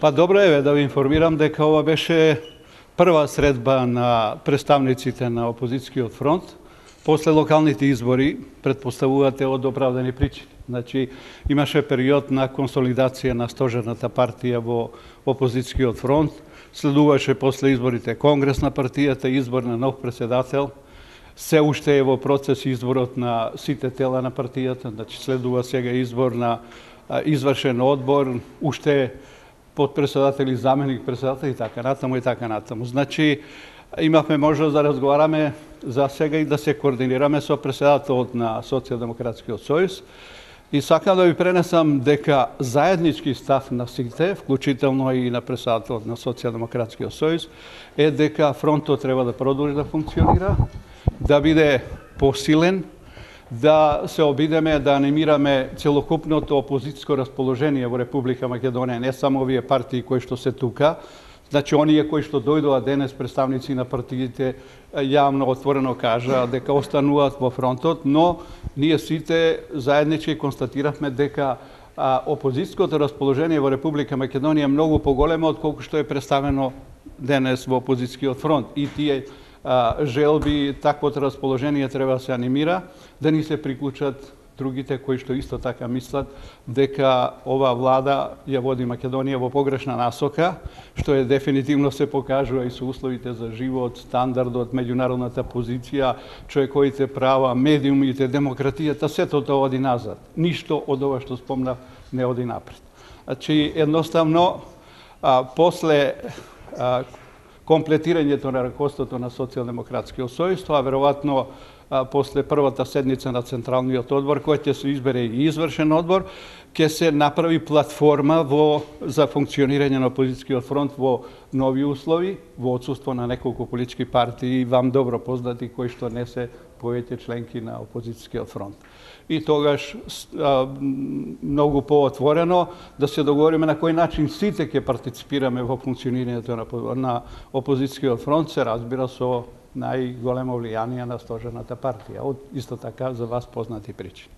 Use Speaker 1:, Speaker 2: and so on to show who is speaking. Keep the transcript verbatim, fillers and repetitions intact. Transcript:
Speaker 1: Па добро е да ви информирам дека ова беше прва средба на представниците на опозицијскиот фронт после локалните избори, предпоставувате од оправдани причини. Значи, имаше период на консолидација на стожерната партија во опозицијскиот фронт, следуваше после изборите конгрес на партијата, избор на нов председател, се уште е во процес изборот на сите тела на партијата, значи следува сега избор на извршен одбор, уште подпредседатели, заменик председател и така натаму и така натаму. Значи, имавме можност да разговараме за сега и да се координираме со председателот на Социјалдемократскиот сојуз. И сакам да ви пренесам дека заеднички став на сите, вклучително и на председателот на Социјалдемократскиот сојуз, е дека фронтот треба да продолжи да функционира, да биде посилен, да се обидеме да анимираме целокупното опозицијско расположение во Република Македонија, не само овие партии кои што се тука, значи оние кои што дојдоа денес представници на партиите јавно отворено кажа дека остануваат во фронтот, но ние сите заеднички констатиравме дека опозицијското расположение во Република Македонија е многу поголемо од колку што е представено денес во опозицијскиот фронт. И тие желби, таквото расположение треба да се анимира, да ни се приклучат другите кои што исто така мислат дека ова влада ја води Македонија во погрешна насока, што е дефинитивно се покажува и со условите за живот, стандардот, меѓународната позиција, човековите права, медиумите, демократијата, сето тоа оди назад. Ништо од ова што спомнав не оди напред. Значи, едноставно, а, после а, комплетирањето на ракоството на Социјалдемократскиот сојуз, тоа веројатно после првата седница на Централниот одбор, кој ќе се избере и извршен одбор, ќе се направи платформа во, за функционирање на опозицијскиот фронт во нови услови, во отсуство на неколку политички партии, вам добро познати, кои што не се повеќе членки на опозицијскиот фронт. И тогаш а, многу поотворено да се договориме на кој начин сите ќе партиципираме во функционирањето на, на опозицијскиот фронт, се разбира со најголемо влијание на стожерната партија, од исто така за вас познати причини.